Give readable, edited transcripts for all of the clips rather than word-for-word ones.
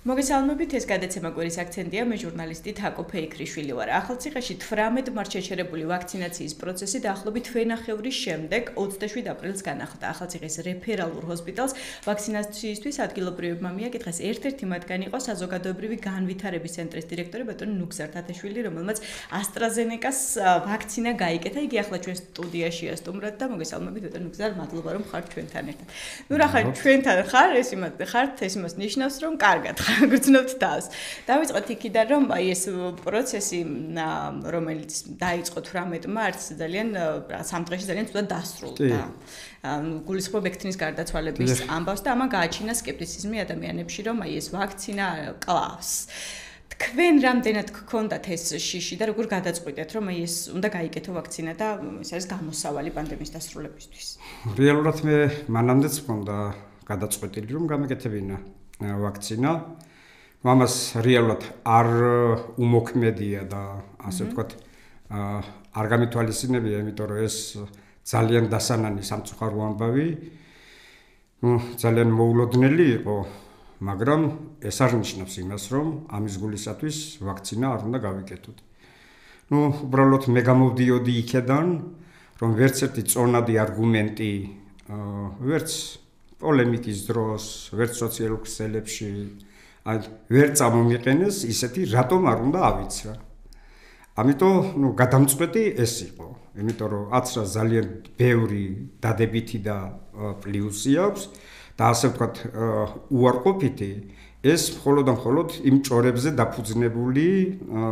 მოგესალმებით, ეს გადაცემა კვირის აქცენტია, მე ჟურნალისტი თაკო ფეიქრიშვილი ვარ. ახალციხეში 18 მართ შეჩერებული ვაქცინაციის პროცესი დაახლოებით თვენახევრის შემდეგ 27 აპრილს განახლდა. ახალციხის რეფერალურ ჰოსპიტალს ვაქცინაციისთვის ადგილობრივებმა მიაკითხეს. ერთ-ერთი მათგანი იყო საზოგადოებრივი განვითარების ცენტრის დირექტორი ბატონი ნუგზარ თათაშვილი, რომელმაც AstraZeneca-ს ვაქცინა გაიკეთა. იგი ახლა ჩვენ სტუდიაშია სტუმრად და მოგესალმებით ბატონი ნუგზარ, მადლობა რომ ხართ ჩვენთან ერთად. ნუ რა ხარ ჩვენთან ხარ, ეს იმას ნიშნავს რომ კარგად გრძნობთ თავს. დავიწყოთ იქიდან, რომ აი ეს პროცესი, რომელიც დაიწყო 18 მარტს, ძალიან სამ დღეში ძალიან ცუდად დასრულდა. გულისხმობ ექთნის გარდაცვალების ამბავს და ამან გააჩინა სკეპტიციზმი ადამიანებში, რომ აი ეს ვაქცინა კლავს. თქვენ რამდენად გქონდათ ეს შიში და როგორ გადაწყვიტეთ, რომ აი ეს უნდა გაიკეთო ვაქცინა და ეს არის გამოსავალი პანდემიის დასრულებისთვის? რეალურად მე მანამდეც მქონდა გადაწყვეტილი, რომ გამეკეთებინა ვაქცინა. ამას რეალურად არ უმოქმედია და ასე ვთქვათ, არ გამითვალისწინებია, იმიტომ რომ ეს ძალიან დასანანი სამწუხარო ამბავი, ძალიან მოულოდნელი იყო, მაგრამ ეს არ ნიშნავს იმას, რომ ამის გულისათვის ვაქცინა არ უნდა გავიკეთოთ. უბრალოდ მე გამოვდიოდი იქედან, რომ ვერც ერთი წონადი არგუმენტი, ვერც პოლემიკის დროს, ვერც სოციალურ ქსელებში ვერ წამომიყენეს ისეთი, რატომ არ უნდა ავიცრა. ამიტომ გადამწყვეტი ეს იყო, იმიტომ რომ აცრა ძალიან ბევრი დადებითი და პლუსი აქვს და ასე ვთქვათ, უარყოფითი ეს მხოლოდ და მხოლოდ იმ ჭორებზე დაფუძნებული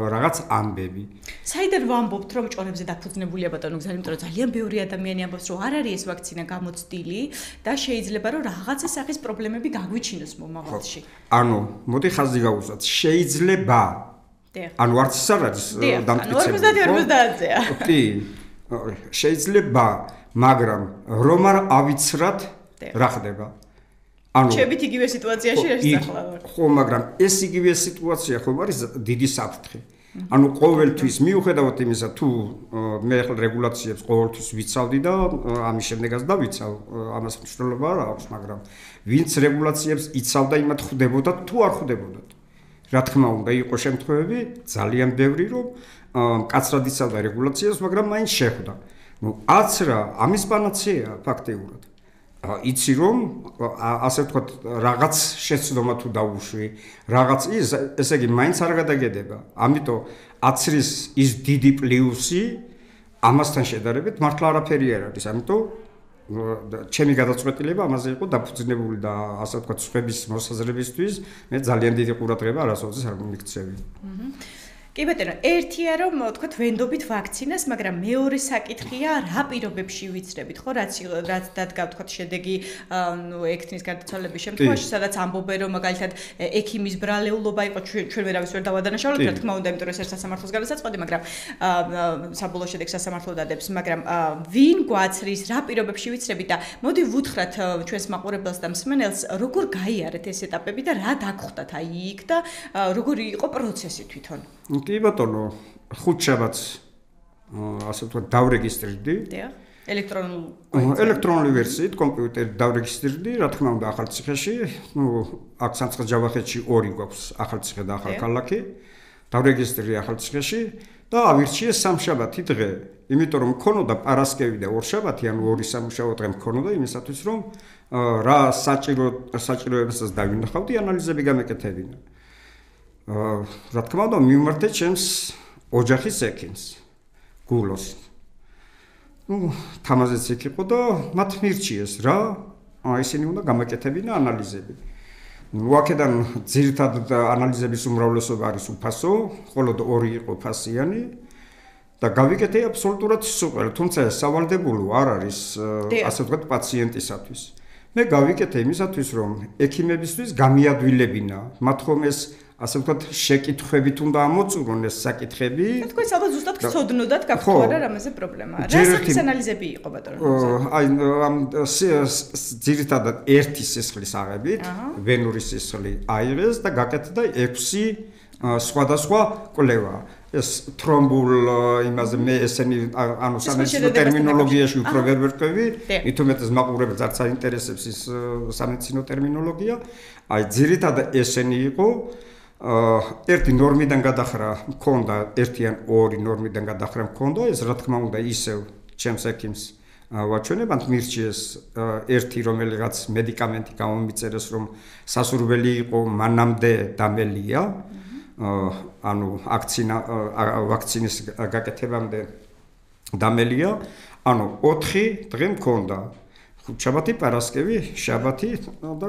რაღაც ამბები. საიდან ვამბობთ, რომ ჭორებზე დაფუძნებულია ბატონო გზა, იმიტომ რომ ძალიან ბევრი ადამიანი ამბობს, რომ არ არის ეს ვაქცინა გამოცდილი და შეიძლება რომ რაღაცა სახის პრობლემები გაგვიჩინოს მომავალში. ანუ, მოდი ხაზი გავუსვათ, შეიძლება. ანუ არც ის არ არის დამტკიცებული. 50-50-ია. კი. შეიძლება, მაგრამ რომ არ ავიცრათ, რა ხდება? შევით იგივე სიტუაციაში ახლა ვარ. ხო, მაგრამ ეს იგივე სიტუაცია ხომ არის დიდი საფრთხე. ანუ ყოველთვის მიუხედავად იმისა, თუ მე ახლა რეგულაციებს ყოველთვის ვიცავდი და ამის შემდეგაც დავიცავ, ამას მნიშვნელობა არ აქვს, მაგრამ ვინც რეგულაციებს იცავდა, იმათ ხვდებოდა თუ არ ხვდებოდა. რა თქმა უნდა, იყო შემთხვევები ძალიან ბევრი, რომ მკაცრად იცავდა რეგულაციებს, მაგრამ მაინც შეხვდა. აცრა ამის პანაცეა ფაქტიურად. იცი რომ ასე ვთქვათ, რაღაც შეცდომა თუ დაუშვი, რაღაც ესე იგი მაინც არ გადაგედება. ამიტომ აცრის ის დიდი პლუსი ამასთან შედარებით მართლა არაფერი არ არის. ამიტომ ჩემი გადაწყვეტილება ამაზე იყო დაფუძნებული და ასე ვთქვათ, სხვების მოსაზრებისთვის მე ძალიან დიდი ყურადღება არასოდეს არ მიმიქცევი. კი ბატონო, ერთია რომ თქვათ ვენდობით ვაქცინას, მაგრამ მეორე საკითხია რა პირობებში ვიცრებით, ხო, რაც დადგა თქვათ შედეგი, ექთნის გარდაცვალების შემთხვევაში, სადაც ამბობენ რომ მაგალითად ექიმის ბრალეულობა იყო, ჩვენ ვერავის ვერ დავადანაშაულოთ, რა თქმა უნდა, იმიტომ რომ ეს სასამართლოს გადასაწყვეტი, მაგრამ საბოლოო შედეგს სასამართლო დადებს, მაგრამ ვინ გვაცრის, რა პირობებში ვიცრებით და მოდი ვუთხრათ ჩვენს მაყურებელს და მსმენელს, როგორ გაიარეთ ეს ეტაპები და რა დაგხვდათ აი იქ და როგორი იყო პროცესი თვითონ? კი ბატონო, ხუთშაბათს ასე ვთქვათ, დავრეგისტრირდი. ელექტრონული ვერსიით კომპიუტერით დავრეგისტრირდი, რა თქმა უნდა, ახალციხეში, აქ სამცხე-ჯავახეთში 2 გვაქვს, ახალციხე და ახალქალაქი. დავრეგისტრირდი ახალციხეში და ავირჩიე სამშაბათი დღე, იმიტომ რომ მქონოდა პარასკევი და ორშაბათი, ანუ 2 სამუშაო დღე მქონოდა იმისათვის, რომ რა საჭიროებასაც დავინახავდი, ანალიზები გამეკეთებინა. რა თქმა უნდა, მივმართე ჩემს ოჯახის ექიმს, გულოს. თამაზეც იქ იყო და მათ მირჩიეს რა, ისინი უნდა გამეკეთებინა ანალიზები. აქედან ძირითადად ანალიზების უმრავლესობა არის უფასო, მხოლოდ 2 იყო ფასიანი და გავიკეთე აბსოლუტურად სუპერ, თუმცა სავალდებულო არ არის, ასე ვთქვათ, პაციენტისათვის. მე გავიკეთე იმისათვის, რომ ექიმებისთვის გამიადვილებინა, მათ ხომ ეს ასე ვთქვათ, შეკითხვებით უნდა ამოწურონ ეს საკითხები. თქვენ სადაც ზუსტად გწოდნოდათ გაქვთ არა რამეზე პრობლემა. რა სახის ანალიზები იყო ბატონო? აი ამ ძირითადად ერთი სისხლის აღებით, ვენური სისხლი აიღეს და გაკეთდა 6 სხვადასხვა კვლევა. ეს თრომბულ იმაზე მე ესენი ანუ სამედიცინო ტერმინოლოგიაში უფრო ვერ ვერკვევი, მithumetes მაყურებელს არც აინტერესებს ის სამედიცინო ტერმინოლოგია. აი ძირითადად ესენი იყო ერთი ნორმიდან გადახრა მქონდა, ერთი ან ორი ნორმიდან გადახრა მქონდა, ეს რა თქმა უნდა ისევ ჩემს ექიმს ვაჩვენებთ მირჩიეს ერთი რომელიღაც მედიკამენტი გამომიწერეს რომ სასურველი იყო მანამდე დამელია ანუ ვაქცინის გაკეთებამდე დამელია ანუ 4 დღე მქონდა ხუთშაბათი პარასკევი შაბათი და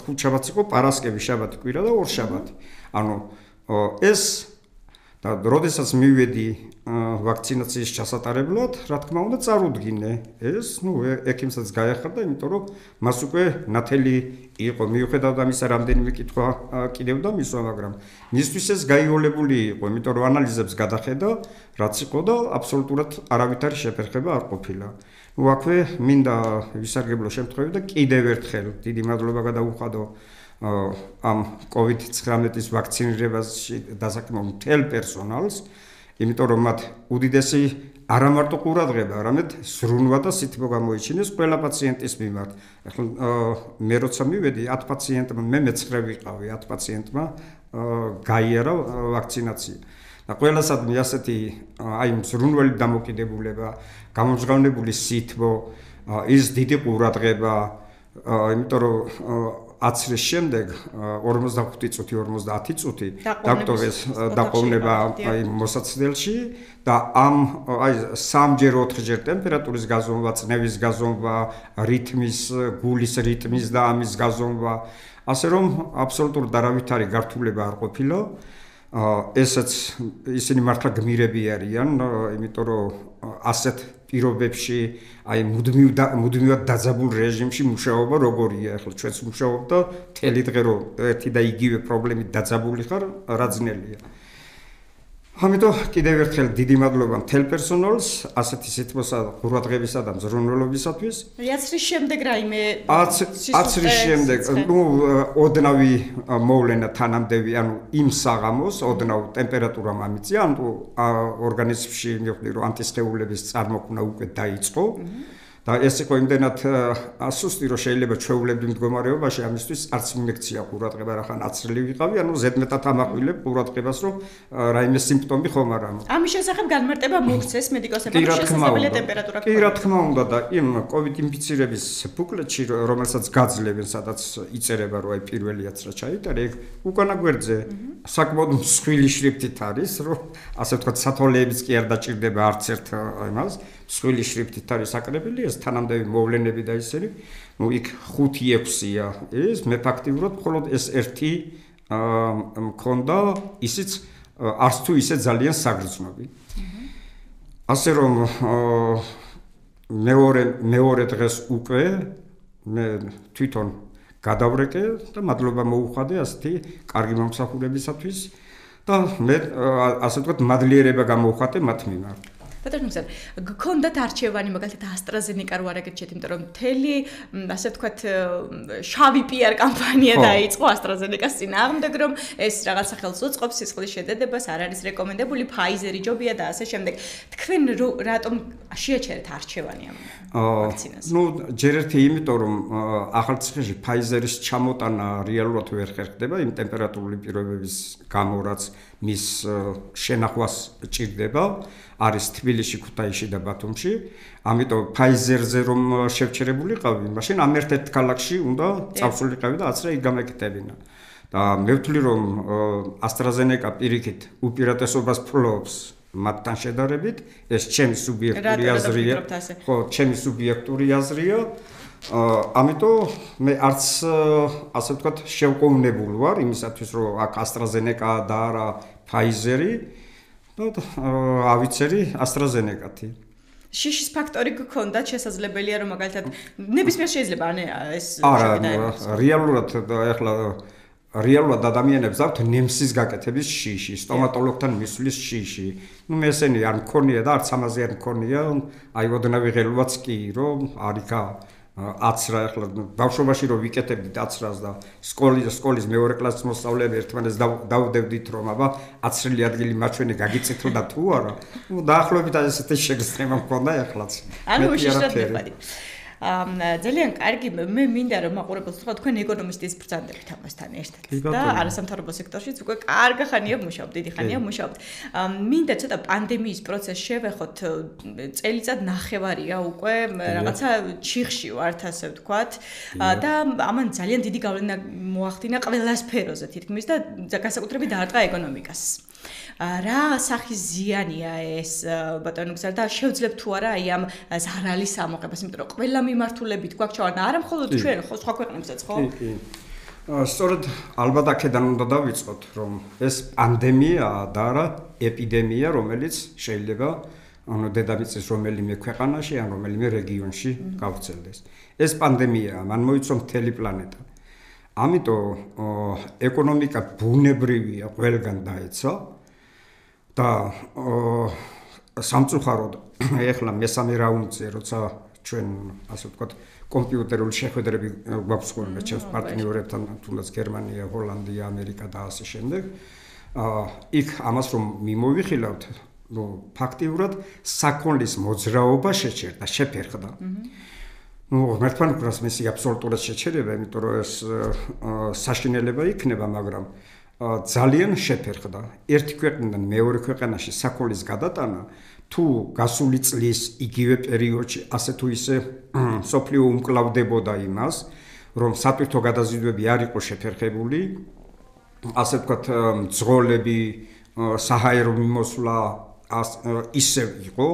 ხუთშაბათი იყო პარასკევი შაბათი კვირა და ორშაბათი ანუ ეს და როდესაც მივედი ვაქცინაციის ჩასატარებლად, რა თქმა უნდა, წარუდგინე ეს, ექიმსაც გაეხარდა, იმიტომ რომ მას უკვე ნათელი იყო, მიუხედავად ამისა, რამდენიმე კითხვა კიდევ და მისვა, მაგრამ მისთვის ეს გაიოლებული იყო, იმიტომ რომ ანალიზებს გადახედა, რაც იყო და აბსოლუტურად არავითარი შეფერხება არ ყოფილა. აქვე მინდა ვისარგებლო შემთხვევით და კიდევ ერთხელ დიდი მადლობა გადაუხადო ამ COVID-19-ის ვაქცინირებაში დასაქმებულ მთელ პერსონალს, იმიტომ რომ მათ უდიდესი არა მარტო ყურადღება, არამედ ზრუნვა და სითბო გამოიჩინეს ყველა პაციენტის მიმართ. ახლა მე როცა მივედი 10 პაციენტმა, მე მეცხრე ვიყავი 10 პაციენტმა გაიარა ვაქცინაცია. და ყველასადმი ასეთი აი ზრუნველი დამოკიდებულება, გამომჟღავნებული სითბო, ის დიდი ყურადღება, იმიტომ რომ აცრის შემდეგ 45 წუთი 50 წუთი დაკტოვეს დაყოვნება აი მოსაცდელში და ამ აი 3-ჯერ 4-ჯერ ტემპერატურის გაზომვა, წნევის გაზომვა, რითმის, გულის რითმის და ამის გაზომვა, ასე რომ აბსოლუტურად არავითარი გართულება არ ყოფილა. ესეც ისინი მართლა გმირები არიან, იმიტომ რომ ასეთ პირობებში აი მუდმივად დაძაბულ რეჟიმში მუშაობა როგორია, ახლა ჩვენც მუშაობ და მთელი დღე რომ ერთი და იგივე პრობლემით დაძაბული ხარ, რა ძნელია. ამიტომ კიდევ ერთხელ დიდი მადლობა მთელ პერსონალს, ასეთი სითბოსა და ყურადღებისა და მზრუნველობისათვის. აცრის შემდეგ რაიმე აცრის შემდეგ, ოდნავი მოვლენა თანამდევი, ანუ იმ საღამოს ოდნავ ტემპერატურა მამიწია, ანუ ორგანიზმში მივხვდი რომ ანტისხეულების წარმოქმნა უკვე დაიწყო. და ეს იყო იმდენად ასუსტი რომ შეიძლება ჩვეულებრივ მდგომარეობაში ამისთვის არც მიმექცია ყურადღება რახან აცრილი ვიყავი, ანუ ზედმეტად ამაყვილებ ყურადღებას რომ რაიმე სიმპტომი ხომ არ ამო. ამის შესახებ განმარტება მოხსეს მედიკოსებმა შესაძლებელია ტემპერატურა. კი რა თქმა უნდა და იმ COVID ინფიცირების ბუკლეტში რომელსაც გაძლევენ, სადაც იწერება რომ აი პირველი აცრა ჩაიტარე, ეგ უკანა გვერდზე საკმაოდ მსხვილი შრიფტით არის, რომ ასე ვთქვათ სათვალეებიც კი არ დაჭირდება არც ერთ იმას. მსხვილი შრიფტით არის აკრებილი ეს თანამდევი მოვლენები და ისინი, იქ 5-6-ია ის, მე ფაქტიურად მხოლოდ ეს ერთი მქონდა, ისიც არც თუ ისე ძალიან საგრძნობი. ასე რომ მეორე დღეს უკვე მე თვითონ გადავრეკე და მადლობა მოუხადე ასეთი კარგი მომსახურებისათვის და მე ასე ვთქვათ მადლიერება გამოვხატე მათ მიმართ. ბატონო, გქონდათ არჩევანი მაგალითად AstraZeneca რო არაგერჩეთ, იმიტომ რომ მთელი ასე ვთქვათ შავი PR კამპანია დაიწყო AstraZeneca-ს წინააღმდეგ, რომ ეს რაღაც სახელს უწყობს სისხლის შედედებას, არ არის რეკომენდებული, Pfizer-ი ჯობია და ასე შემდეგ. თქვენ რატომ შეაჩერეთ არჩევანი ამ ვაქცინას? ჯერ ერთი იმიტომ რომ ახალციხეში Pfizer-ის ჩამოტანა რეალურად ვერ ხერხდება იმ ტემპერატურული პირობების გამო, რაც მის შენახვას ჭირდება. არის თბილისში, ქუთაისში და ბათუმში. ამიტომ Pfizer-ზე რომ შევჩერებულიყავი, მაშინ ამ ერთ-ერთ ქალაქში უნდა წავსულიყავი და აცრა იქ გამეკეთებინა. და მე ვთვლი რომ AstraZeneca პირიქით უპირატესობას ფლობს მათთან შედარებით, ეს ჩემი სუბიექტური აზრია. ხო, ჩემი სუბიექტური აზრია. ამიტომ მე არც ასე ვთქვათ შევყოვნებულ ვარ იმისათვის რომ აქ AstraZeneca და არა Pfizer-ი და ავიცერი AstraZeneca-თი. შიშის ფაქტორი გქონდათ შესაძლებელია რომ მაგალითად ნებისმიერ შეიძლება ეს არა, რეალურად ახლა რეალურად ადამიანებს აქვთ ნემსის გაკეთების შიში, სტომატოლოგთან მისვლის შიში. მე ესენი არ მქონია და არც ამაზე არ მქონია, აი ოდნავი ღელვაც კი რომ არიქა აცრა ახლა ბავშვობაში რომ ვიკეთებდით აცრას და სკოლის მეორე კლასის მოსწავლეები ერთმანეთს დავდევდით რომ აბა აცრილი ადგილი მაჩვენე გაგიწითო და თუ არა დაახლოებით ასეთი შეგრძნება მქონდა ახლაც ანუ უშიშრად მეყადი ძალიან კარგი მე მინდა რომ მაყურებელს ვთქვა თქვენ ეკონომისტის ბრძანდებით ამასთან ერთად და არასამთავრობო სექტორშიც უკვე კარგი ხანია ვმუშაობთ დიდი ხანია ვმუშაობთ მინდა ცოტა პანდემიის პროცესს შევეხოთ წელიწად ნახევარია უკვე რაღაცა ჩიხში ვართ ასე ვთქვათ და ამან ძალიან დიდი გავლენა მოახდინა ყველა სფეროზე თითქმის და განსაკუთრებით დაარტყა ეკონომიკას რა სახის ზიანია ეს ბატონო გზა და შევძლებთ თუ არა აი ამ ზარალის ამოღებას იმიტომ რომ ყველა მიმართულებით გვაქვს ჩავარდა არა მხოლოდ ჩვენ ხო სხვა ქვეყნებსაც ხო კი სწორედ ალბათ აქედან უნდა დავიწყოთ რომ ეს პანდემიაა და არა ეპიდემია რომელიც შეიძლება ანუ დედამიწის რომელიმე ქვეყანაში ან რომელიმე რეგიონში გავრცელდეს ეს პანდემიაა მან მოიცვა მთელი პლანეტა ამიტომ ეკონომიკა ბუნებრივია ყველგან დაეცა და სამწუხაროდ ეხლა მესამე რაუნდზე როცა ჩვენ ასე ვთქვათ კომპიუტერული შეხვედრები გვაქვს ხოლმე ჩემს პარტნიორებთან თუნდაც გერმანია, ჰოლანდია, ამერიკა და ასე შემდეგ იქ ამას რომ მიმოვიხილავთ ნუ ფაქტიურად საქონლის მოძრაობა შეჩერდა შეფერხდა ნუ მერტფან უკრას მესი აბსოლუტურად შეჩერება იმიტომ რომ ეს საშინელება იქნება მაგრამ ძალიან შეფერხდა ერთი ქვეყნიდან მეორე ქვეყანაში საქონლის გადატანა თუ გასული წლის იგივე პერიოდში ასე თუ ისე სოფლიო უმკლავდებოდა იმას რომ სატვირთო გადაზიდვები არ იყო შეფერხებული ასე ვთქვათ მძღოლები საჰაერო მიმოსვლა ისევ იყო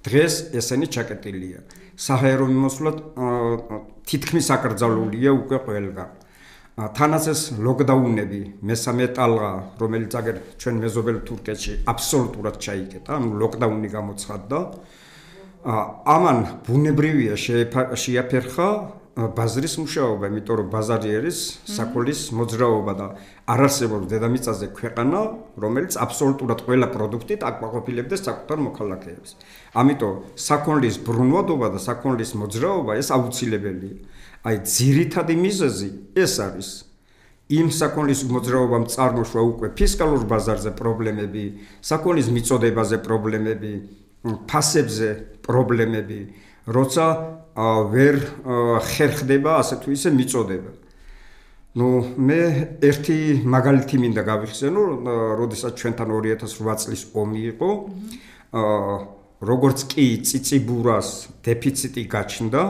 დღეს ესენი ჩაკეტილია საჰაერო მიმოსვლა თითქმის აკრძალულია უკვე ყველგან თანაც ეს ლოკდაუნები მესამე ტალღა რომელიც აგერ ჩვენ მეზობელ თურქეთში აბსოლუტურად ჩაიკეტა ანუ ლოკდაუნი გამოცხადდა ამან ბუნებრივია შეაფერხა ბაზრის მუშაობა იმიტომ რომ ბაზარი არის საქონლის მოძრაობა და არ არსებობს დედამიწაზე ქვეყანა რომელიც აბსოლუტურად ყველა პროდუქტით აკმაყოფილებდეს საკუთარ მოქალაქეებს ამიტომ საქონლის ბრუნვადობა და საქონლის მოძრაობა ეს აუცილებელია აი ძირითადი მიზეზი ეს არის იმ საქონლის მოძრაობამ წარმოშვა უკვე ფისკალურ ბაზარზე პრობლემები, საქონლის მიწოდებაზე პრობლემები, ფასებზე პრობლემები, როცა ვერ ხერხდება ასე თუ ისე მიწოდება. ნუ მე ერთი მაგალითი მინდა გავიხსენო, როდესაც ჩვენთან 2008 წლის ომი იყო, როგორც კი წიწიბურას დეფიციტი გაჩნდა,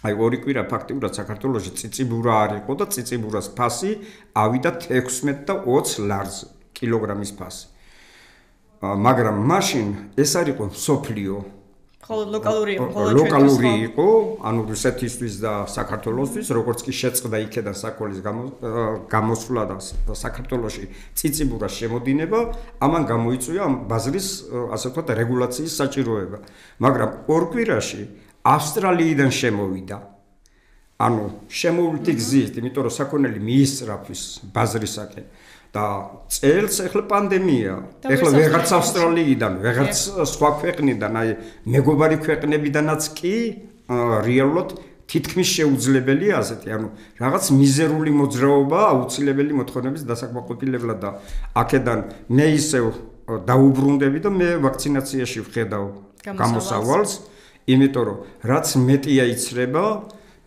აი ორი კვირა ფაქტიურად საქართველოში წიწიბურა არ იყო და წიწიბურას ფასი ავიდა 16 და 20 ლარზე კილოგრამის ფასი. მაგრამ მაშინ ეს არ იყო მსოფლიო ხოლო ლოკალური იყო, ანუ რუსეთისთვის და საქართველოსთვის, როგორც კი შეწყდა იქედან საქონლის გამოსვლა და საქართველოში წიწიბურას შემოდინება, ამან გამოიწვია ამ ბაზრის ასე ვთქვათ რეგულაციის საჭიროება. მაგრამ ორ კვირაში ავსტრალიიდან შემოვიდა. ანუ შემოვლითი გზით, იმიტომ რომ საქონელი მიისწრაფვის ბაზრისაკენ და წელს ახლა პანდემია. ახლა ვეღარც ავსტრალიიდან, ვეღარც სხვა ქვეყნიდან, აი მეგობარი ქვეყნებიდანაც კი რეალურად თითქმის შეუძლებელია ასეთი, ანუ რაღაც მიზერული მოძრაობა აუცილებელი მოთხოვნების დასაკმაყოფილებლად და აქედან მე ისევ დაუბრუნდები და მე ვაქცინაციაში ვხედავ გამოსავალს. იმიტომ რომ რაც მეტია იცრება,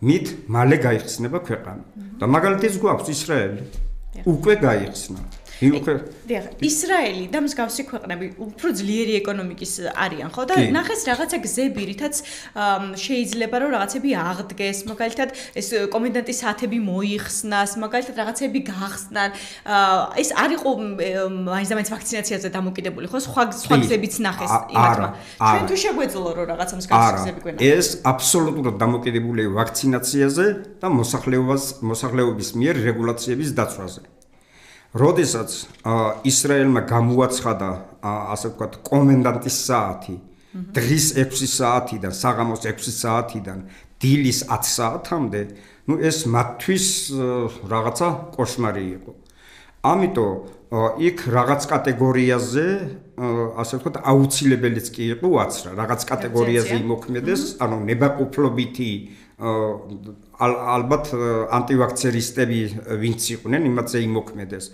მით მალე გაიხსნება ქვეყანა. და მაგალითიც გვაქვს ისრაელი. უკვე გაიხსნა. ისრაელი და მსგავსი ქვეყნები უფრო ძლიერი ეკონომიკის არიან, ხო? და ნახეს რაღაცა გზები, რითაც შეიძლება რომ რაღაცები აღდგეს, მაგალითად ეს კომენდანტის საათები მოიხსნას, მაგალითად რაღაცები გახსნან. ეს არ იყო მაინც ვაქცინაციაზე დამოკიდებული, ხო? სხვა გზებიც ნახეს იმათმა. ჩვენ თუ შეგვეძლო რომ რაღაცა მსგავსი გზები გვენა. ეს აბსოლუტურად დამოკიდებულია ვაქცინაციაზე და მოსახლეობის მიერ რეგულაციების დაცვაზე. როდესაც ისრაელმა გამოაცხადა ასე ვთქვათ კომენდანტის საათი დღის 6 საათიდან საღამოს 6 საათიდან დილის 10 საათამდე, ნუ ეს მათთვის რაღაცა კოშმარი იყო. ამიტომ იქ რაღაც კატეგორიაზე ასე ვთქვათ აუცილებელიც კი იყო ვაცრა, რაღაც კატეგორიაზე იმოქმედეს, ანუ ნებაყოფლობითი ალბათ ანტივაქცერისტები ვინც იყვნენ, იმათზე იმოქმედეს.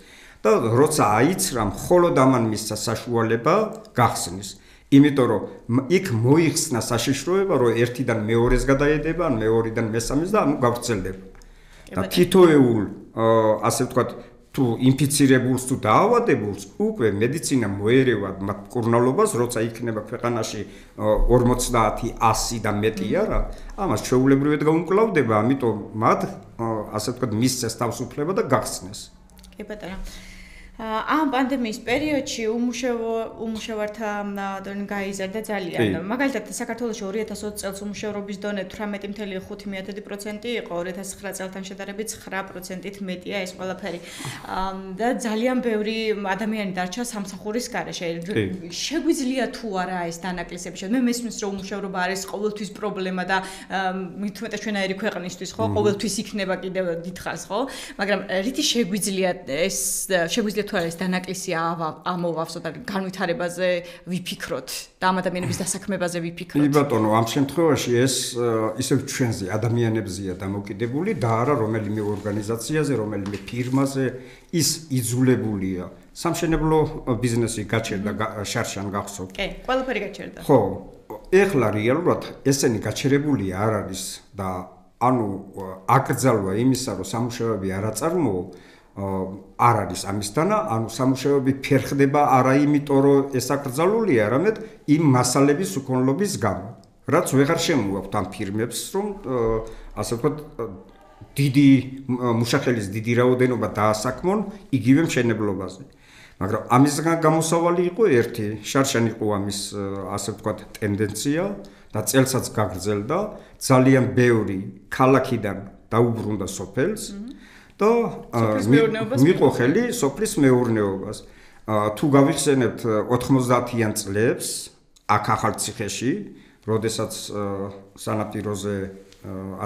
და როცა აიცრა, მხოლოდ ამან მისცა საშუალება გახსნის. იმიტომ რომ იქ მოიხსნა საშიშროება, რომ ერთიდან მეორეს გადაედება, ან მეორიდან მესამეს და ანუ გავრცელდება. და თითოეულ ასე ვთქვათ, თუ ინფიცირებულს თუ დაავადებულს უკვე მედიცინა მოერევა მათ მკურნალობას, როცა იქნება ქვეყანაში 50, 100 და მეტი არა, ამას ჩვეულებრივად გაუმკლავდება, ამიტომ მათ ასე ვთქვათ მისცეს თავისუფლება და გახსნეს. კი ბატონო. ამ პანდემიის პერიოდში უმუშევართა დონე გაიზარდა ძალიან. მაგალითად, საქართველოში 2020 წელს უმუშევრობის დონე 18.5% იყო, 2009 წელთან შედარებით 9%-ით მეტია ეს ყველაფერი. და ძალიან ბევრი ადამიანი დარჩა სამსახურის გარეშე. შეგვიძლია თუ არა ეს დანაკლისები? მე მესმის რომ უმუშევრობა არის ყოველთვის პრობლემა და მით უმეტეს ჩვენაირი ქვეყნისთვის, ხო? ყოველთვის იქნება კიდევ დიდხანს, ხო? მაგრამ რითი შეგვიძლია ეს შეგვიძლია თუ არა ეს დანაკლისი ამოვავსო და განვითარებაზე ვიფიქროთ და ამ ადამიანების დასაქმებაზე ვიფიქროთ. კი ბატონო, ამ შემთხვევაში ეს ისევ ჩვენზე ადამიანებზეა დამოკიდებული და არა რომელიმე ორგანიზაციაზე, რომელიმე ფირმაზე, ის იძულებულია. სამშენებლო ბიზნესი გაჩერდა, შარშან გახსოვთ. კი, ყველაფერი გაჩერდა. ხო, ეხლა რეალურად ესენი გაჩერებული არ არის და ანუ აკრძალვა იმისა, რომ სამუშაოები არ აწარმოო არ არის ამისთანა, ანუ სამუშაოები ფერხდება არა იმიტომ, რომ ეს აკრძალულია, არამედ იმ მასალების უკონლობის გამო. რაც ვეღარ შემოაქვთ ამ ფირმებს, რომ ასე ვთქვათ, დიდი მუშახელის დიდი რაოდენობა დაასაქმონ იგივე მშენებლობაზე. მაგრამ ამისგან გამოსავალი იყო ერთი, შარშან იყო ამის ასე ვთქვათ ტენდენცია და წელსაც გაგრძელდა, ძალიან ბევრი ქალაქიდან დაუბრუნდა სოფელს. და მიყო ხელი სოფლის მეურნეობას. თუ გავიხსენებთ 90-იან წლებს აქ ახალციხეში, როდესაც სანაპიროზე,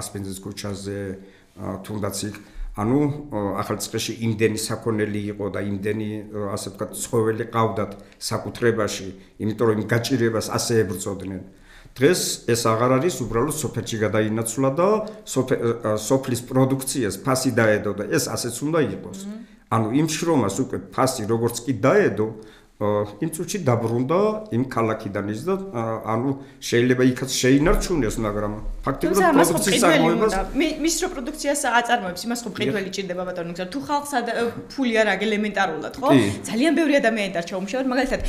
ასპინძის ქუჩაზე, თუნდაც იქ, ანუ ახალციხეში იმდენი საქონელი იყო და იმდენი ასე ვთქვათ ცხოველი ყავდათ საკუთრებაში, იმიტომ რომ იმ გაჭირებას ასე ებრძოდნენ. დღეს ეს აღარ არის, უბრალოდ სოფელში გადაინაცვლა და სოფლის პროდუქციას ფასი დაედო და ეს ასეც უნდა იყოს. ანუ იმ შრომას უკვე ფასი როგორც კი დაედო, იმ წუთში დაბრუნდა იმ ქალაქიდან ის და ანუ შეიძლება იქაც შეინარჩუნეს, მაგრამ ფაქტობრივად პროდუქციის წარმოებას მის რო პროდუქციას აწარმოებს, იმას ხო მყიდველი ჭირდება ბატონო, გზა თუ ხალხს ფული არ აქვს ელემენტარულად, ხო? ძალიან ბევრი ადამიანი დარჩა უმუშევრად, მაგალითად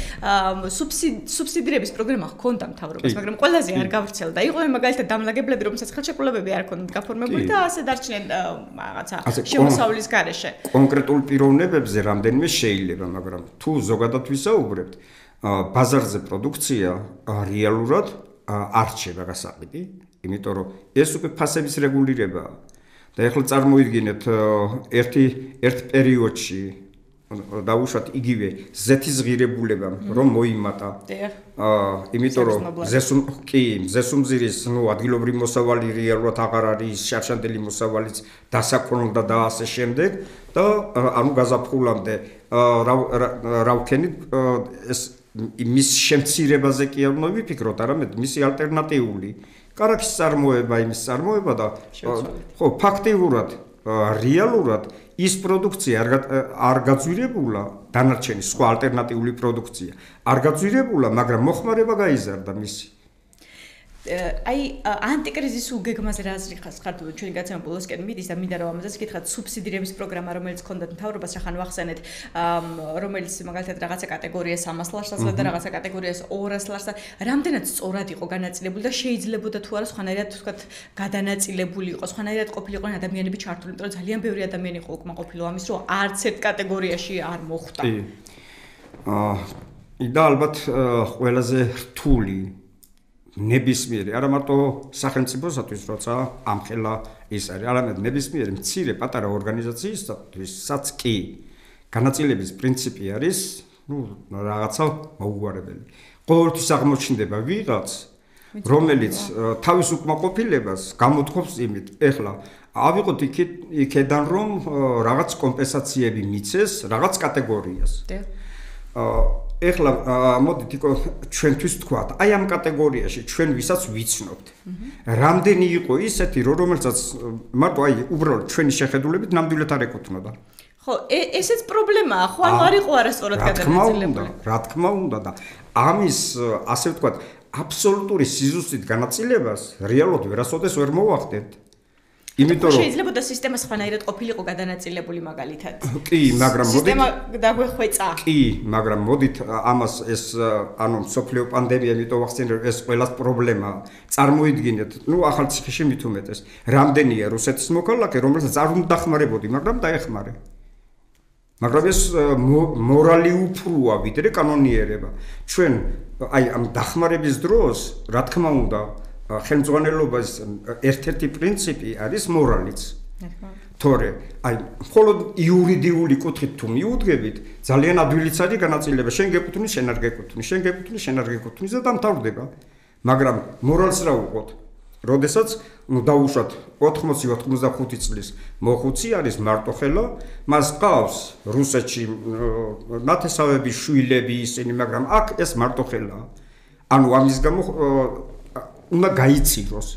სუბსიდირების პროგრამა ჰქონდა მთავრობას, მაგრამ ყველაზე არ გავრცელდა. იყვნენ მაგალითად დამლაგებლები, რომელსაც ხელშეკრულებები არ ჰქონდათ გაფორმებული და ასე დარჩნენ რაღაცა შემოსავლის გარეშე. კონკრეტულ პიროვნებებზე რამდენიმე შეიძლება, მაგრამ თუ ზოგადად ვისაუბრებთ, ბაზარზე პროდუქცია რეალურად არ რჩება გასაყიდი, იმიტომ რომ ეს უკვე ფასების რეგულირებაა. და ეხლა წარმოიდგინეთ ერთ პერიოდში დაუშვათ იგივე ზეთის ღირებულებამ რომ მოიმატა. იმიტომ რომ ზესუმზირის ადგილობრივი მოსავალი რეალურად აღარ არის, შარშანდელი მოსავალიც დასაქმნელდა და ასე შემდეგ და ანუ გაზაფხულამდე რა ვქენით ეს მის შემცირებაზე კი არ უნდა ვიფიქროთ, არამედ მისი ალტერნატიული კარაქის წარმოება, იმის წარმოება და ხო ფაქტიურად რეალურად ის პროდუქცია არ გაძვირებულა, დანარჩენი სხვა ალტერნატიული პროდუქცია არ გაძვირებულა, მაგრამ მოხმარება გაიზარდა მისი. აი ანტიკრიზის უგეგმაზე რა აზრი ხართ ჩვენი გაცემა ბოლოსკენ მიდის და მინდა რომ ამაზეც გითხრათ სუბსიდირების პროგრამა რომელიც ჰქონდათ მთავრობას რახან ვახსენეთ რომელიც მაგალითად რაღაცა კატეგორიას 100 ლარს ასლა და რაღაცა კატეგორიას 200 ლარს რამდენად სწორად იყო განაწილებული და შეიძლებოდა თუ არა სხვანაირად ვთქვათ გადანაწილებული იყო სხვანაირად ყოფილიყვნენ ადამიანები ჩართული იმიტომ რომ ძალიან ბევრი ადამიანი იყო უკმაყოფილო ამის რომ არც ერთ კატეგორიაში არ მოხვდა და ალბათ ყველაზე რთული ნებისმიერი, არა მარტო სახელმწიფოსათვის, როცა ამხელა ის არის, არამედ ნებისმიერი მცირე პატარა ორგანიზაციისთვისაც კი განაწილების პრინციპი არის, რაღაცა მოუგვარებელი. ყოველთვის აღმოჩნდება ვიღაც, რომელიც თავის უკმაყოფილებას გამოთქვობს იმით, ეხლა ავიღოთ იქედან რომ რაღაც კომპენსაციები მიცეს რაღაც კატეგორიას. ეხლა მოდით იქ ჩვენთვის თქვათ, აი ამ კატეგორიაში ჩვენ ვისაც ვიცნობთ. რამდენი იყო ისეთი, რომელსაც მარტო აი უბრალოდ ჩვენი შეხედულებით ნამდვილად არ ეკუთვნოდა. ხო, ესეც პრობლემაა, ხო, არ იყო არასწორად გადაწყვეტილი. რა თქმა უნდა და ამის ასე ვთქვათ, აბსოლუტური სიზუსტით განაწილებას რეალურად ვერასოდეს ვერ მოვახდენთ. იმიტომ რომ შეიძლება და სისტემა სხვანაირად ყოფილიყო გადანაწილებული მაგალითად. კი, მაგრამ მოდით სისტემა დაგვეხვეწა. კი, მაგრამ მოდით ამას ეს ანუ სოფლიო პანდემია იმიტომ ვახსენე რომ ეს ყველას პრობლემაა. წარმოიდგინეთ, ახალ ციხეში მით უმეტეს, რამდენია რუსეთის მოქალაქე, რომელსაც არ უნდა დახმარებოდი, მაგრამ დაეხმარე. მაგრამ ეს მორალი უფროა ვიდრე კანონიერება. ჩვენ აი ამ დახმარების დროს, რა თქმა უნდა, ხელმძღვანელობის ერთ-ერთი პრინციპი არის მორალიც. თორე, აი, მხოლოდ იურიდიული კუთხით თუ მიუდგებით, ძალიან ადვილიც არის განაწილება, შენ გეკუთვნის, შენ არ გეკუთვნის, შენ გეკუთვნის, შენ არ გეკუთვნის და დამთავრდება. მაგრამ მორალს რა უყოთ? როდესაც დაუშვათ 80-85 წლის მოხუცი არის მარტოხელა, მას ყავს რუსეთში ნათესავების შვილები ისინი, მაგრამ აქ ეს მარტოხელაა. ანუ ამის გამო უნდა გაიციროს.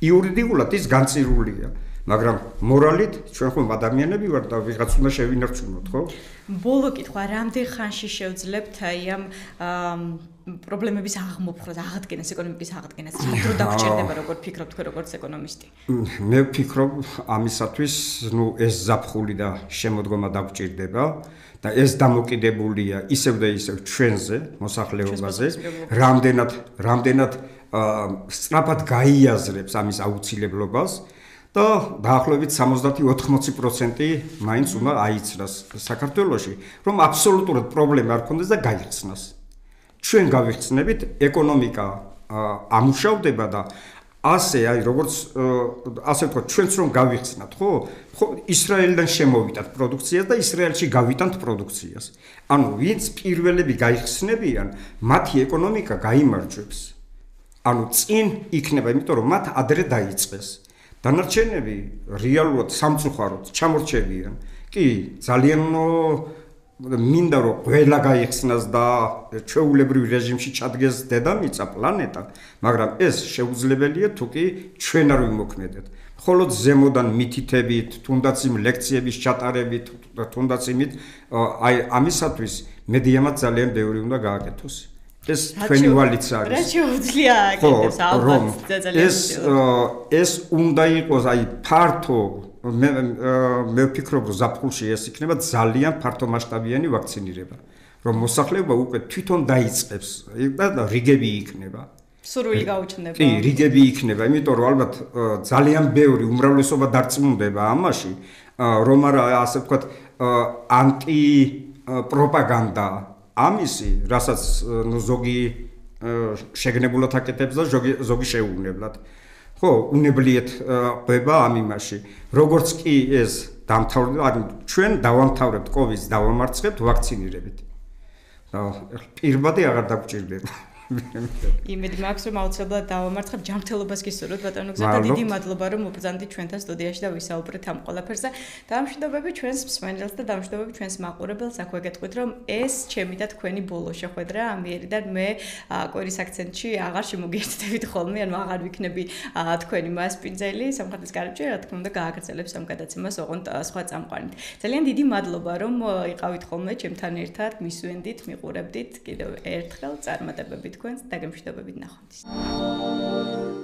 იურიდიულად ის განწირულია, მაგრამ მორალით ჩვენ ხომ ადამიანები ვართ და ვიღაც უნდა შევინარჩუნოთ, ხო? ბოლო კითხვა, რამდენ ხანში შევძლებთ აი ამ პრობლემების აღმოფხვრას, აღდგენას, ეკონომიკის აღდგენას? რა დრო დაგჭირდება, როგორ ფიქრობთ თქვენ როგორც ეკონომისტი? მე ვფიქრობ, ამისათვის, ეს ზაფხული და შემოდგომა დაგჭირდება და ეს დამოკიდებულია ისევ და ისევ ჩვენზე, მოსახლეობაზე, რამდენად სწრაფად გაიაზრებს ამის აუცილებლობას და დაახლოებით 70-80% მაინც უნდა აიცრას საქართველოში, რომ აბსოლუტურად პრობლემა არ ქონდეს და გაიხსნას. ჩვენ გავიხსნებით, ეკონომიკა ამუშავდება და ასე, აი როგორც ასე ვთქვათ, ჩვენც რომ გავიხსნათ, ხო? ისრაელიდან შემოვიდათ პროდუქციას და ისრაელში გავიტანთ პროდუქციას. ანუ ვინც პირველები გაიხსნებიან, მათი ეკონომიკა გაიმარჯვებს. ანუ წინ იქნება, იმიტომ რომ მათ ადრე დაიწყეს. დანარჩენები რეალურად სამწუხაროდ ჩამორჩებიან. კი, ძალიან მინდა რომ ყველა გაიხსნას და ჩვეულებრივ რეჟიმში ჩადგეს დედამიწა, პლანეტა, მაგრამ ეს შეუძლებელია თუ კი ჩვენ არ ვიმოქმედეთ. მხოლოდ ზემოდან მითითებით, თუნდაც იმ ლექციების ჩატარებით, თუნდაც იმით, აი ამისათვის მედიამაც ძალიან ბევრი უნდა გააკეთოს. ეს თქვენი ვალიც არის. რა შეუძლია აკეთებს ალბათ ძალიან. ეს უნდა იყოს აი ფართო მე ვფიქრობ რომ ზაფხულში ეს იქნება ძალიან ფართო მასშტაბიანი ვაქცინირება, რომ მოსახლეობა უკვე თვითონ დაიწყებს და რიგები იქნება. სურვილი გაუჩნდება. კი, რიგები იქნება, იმიტომ რომ ალბათ ძალიან ბევრი უმრავლესობა დარწმუნდება ამაში, რომ არა ასე ვთქვათ ანტი პროპაგანდა ამისი, რასაც ზოგი შეგნებულად აკეთებს და ზოგი შეუვნებლად. ხო, უნებლიეთ ყვება ამ იმაში. როგორც კი ეს დამთავრდება, ანუ ჩვენ დავამთავრებთ COVID-ს, დავამარცხებთ ვაქცინირებით. და პირბადე აღარ დაგჭირდება. იმედი მაქვს რომ აუცილებლად დავამარცხებ ჯანმრთელობას გისურვებთ ბატონო გზა და დიდი მადლობა რომ მობრძანდით ჩვენთან სტუდიაში და ვისაუბრეთ ამ ყველაფერზე და დამშვიდობები ჩვენს მსმენელს და დამშვიდობები ჩვენს მაყურებელს აქვე გეტყვით რომ ეს ჩემი და თქვენი ბოლო შეხვედრა ამიერიდან მე კვირის აქცენტში აღარ შემოგიერთდებით ხოლმე ანუ აღარ ვიქნები თქვენი მასპინძელი სამხატვრის კარიბჭე რა თქმა უნდა გააგრძელებს ამ გადაცემას ოღონდ სხვა წამყვანით ძალიან დიდი მადლობა რომ იყავით ხოლმე ჩემთან ერთად მისვენდით მიყურებდით კიდევ ერთხელ წარმატებებით თქვენს დაგემშვიდობებით ნახვამდის.